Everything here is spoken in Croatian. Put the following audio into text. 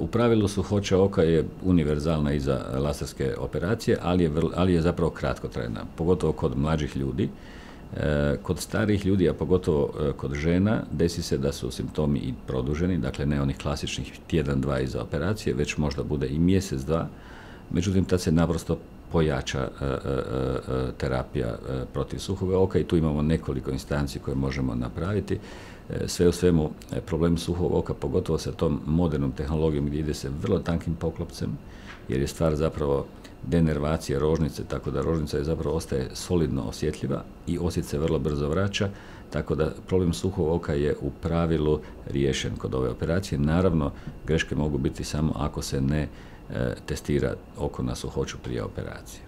U pravilu suhoća oka je univerzalna i za laserske operacije, ali je zapravo kratkotrajna, pogotovo kod mlađih ljudi. Kod starijih ljudi, a pogotovo kod žena, desi se da su simptomi i produženi, dakle ne onih klasičnih tjedan, dva iza operacije, već možda bude i mjesec, dva. Međutim, tad se naprosto pojača terapija protiv suhoga oka i tu imamo nekoliko instanci koje možemo napraviti. Sve u svemu, problem suhog oka, pogotovo sa tom modernom tehnologijom gdje ide se vrlo tankim poklopcem, jer je stvar zapravo denervacije rožnice, tako da rožnica je zapravo ostaje solidno osjetljiva i osjet se vrlo brzo vraća, tako da problem suhog oka je u pravilu riješen kod ove operacije. Naravno, greške mogu biti samo ako se ne testira oko na suhoću prije operacije.